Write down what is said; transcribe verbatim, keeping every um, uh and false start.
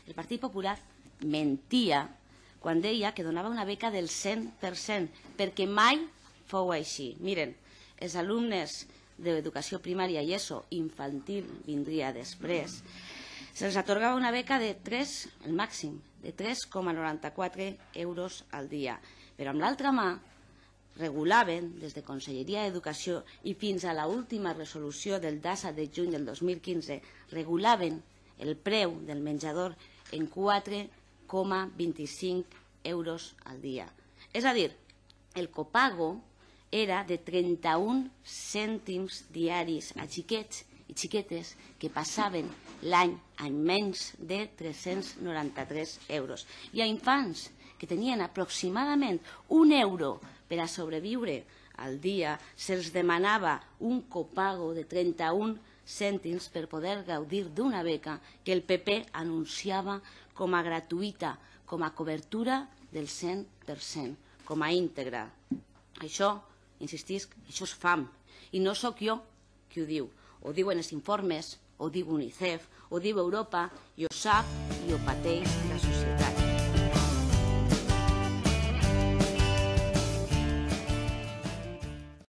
El Partit Popular mentia quan deia que donava una beca del cent per cent, perquè mai fou així. Miren, els alumnes d'educació primària i ESO infantil vindria després, se'ls atorgava una beca de tres, el màxim, de tres coma noranta-quatre euros al dia. Però amb l'altra mà regulaven, des de Conselleria d'Educació i fins a l'última resolució del DASA de juny del dos mil quinze, regulaven el preu del menjador en quatre coma vint-i-cinc euros al dia. És a dir, el copago era de trenta-un cèntims diaris a xiquets i xiquetes que passaven l'any en menys de tres-cents noranta-tres euros. I a infants que tenien aproximadament un euro per a sobreviure al dia, se'ls demanava un copago de trenta-un cèntims per poder gaudir d'una beca que el P P anunciava com a gratuïta, com a cobertura del cent per cent, com a íntegra. Això, insistisc, això és fam. I no sóc jo qui ho diu. Ho diuen els informes, ho diu UNICEF, ho diu Europa, i ho sap i ho pateix la societat.